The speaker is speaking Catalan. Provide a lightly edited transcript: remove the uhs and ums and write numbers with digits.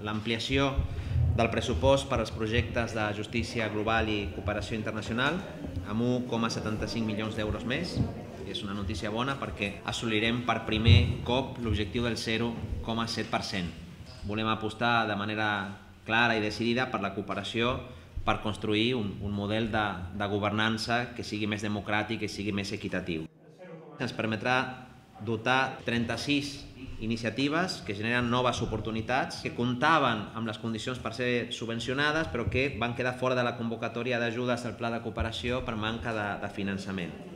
l'ampliació del pressupost per als projectes de justícia global i cooperació internacional amb 1,75 milions d'euros més. És una notícia bona perquè assolirem per primer cop l'objectiu del 0,7%. Volem apostar de manera clara i decidida per la cooperació per construir un model de governança que sigui més democràtic i sigui més equitatiu. Ens permetrà dotar 36 iniciatives que generen noves oportunitats, que comptaven amb les condicions per ser subvencionades però que van quedar fora de la convocatòria d'ajudes del Pla de Cooperació per manca de finançament.